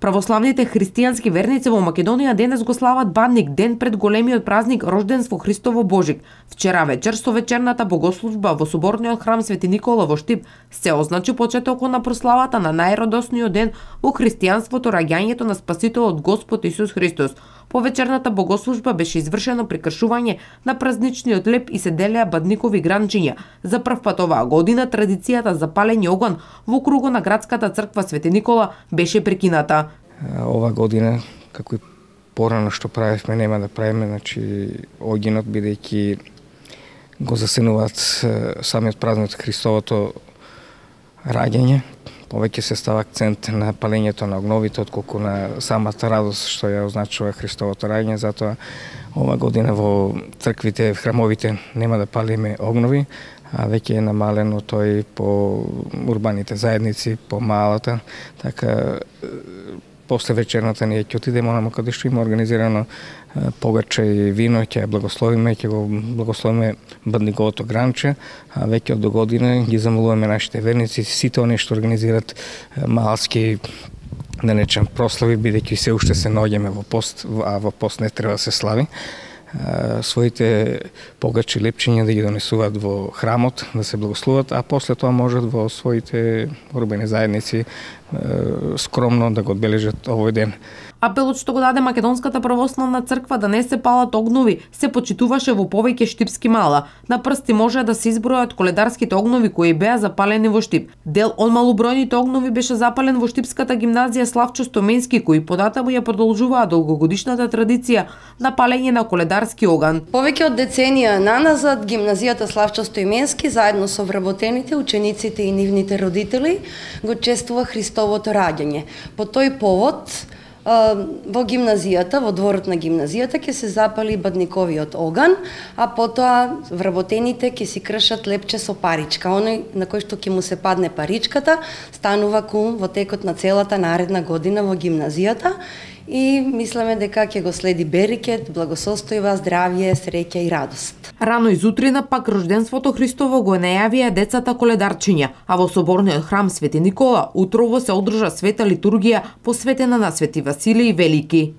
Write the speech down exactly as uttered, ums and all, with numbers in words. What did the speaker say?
Православните христијански верници во Македонија денес го слават Бадник, ден пред големиот празник Рожденство Христово Божик. Вчера вечер со вечерната богослужба во соборниот храм Свети Никола во Штип се означи почетокот на прославата на најрадосниот ден во христијанството, раѓањето на Спасителот Господ Исус Христос. По вечерната богослужба беше извршено прекршување на празничниот леп и се делеа бадникови гранчиња. За прв пат оваа година традицијата за палење оган во кругот на градската црква Свети Никола беше прекината. Ова година, како и порано што правевме, нема да правиме, значи огинот, бидејќи го засенуваат самиот празник Христовото раѓање. Повеќе се става акцент на палењето на огновите, отколку на самата радост што ја означува Христовото раѓање. Затоа ова година во црквите, в храмовите нема да палиме огнови, а веќе е намалено тој по урбаните заедници, по малата. Така, после вечерната ние ќе отидеме онamo каде што има организирано погаче и вино, ќе ја благословиме, ќе го благословиме бадниковото гранче, а веќе од до година ги замолуваме нашите верници, сите оние што организираат малски, да речем, прослави, бидејќи се уште се наоѓаме во пост, а во пост не треба да се слави, своите погачи, лепчиња да ги донесуваат во храмот, да се благословат, а после тоа можат во своите урбани заедници скромно да го одбележат овој ден. Апелот што го даде Македонската православна црква да не се палат огнови се почитуваше во повеќе штипски мала. На прсти може да се избројат коледарските огнови кои беа запалени во Штип. Дел од малобројните огнови беше запален во Штипската гимназија Славчо Стоменски, кои податаму ја продолжуваа долгогодишната традиција на палење на коледарски оган. Повеќе од деценија наназад гимназијата Славчо Стоменски заедно со вработените, учениците и нивните родители го чествува Христовото раѓање. По тој повод во гимназијата, во дворот на гимназијата ќе се запали бадниковиот оган, а потоа вработените ќе си кршат лепче со паричка. Оној на кој што ќе му се падне паричката, станува кум во текот на целата наредна година во гимназијата и мислиме дека ќе го следи берекет, благосостојба, здравје, среќа и радост. Рано изутрина пак Рожденството Христово го најавија децата коледарчиња, а во соборниот храм Свети Никола утрово се одржа света литургија посветена на Свети Василиј Велики.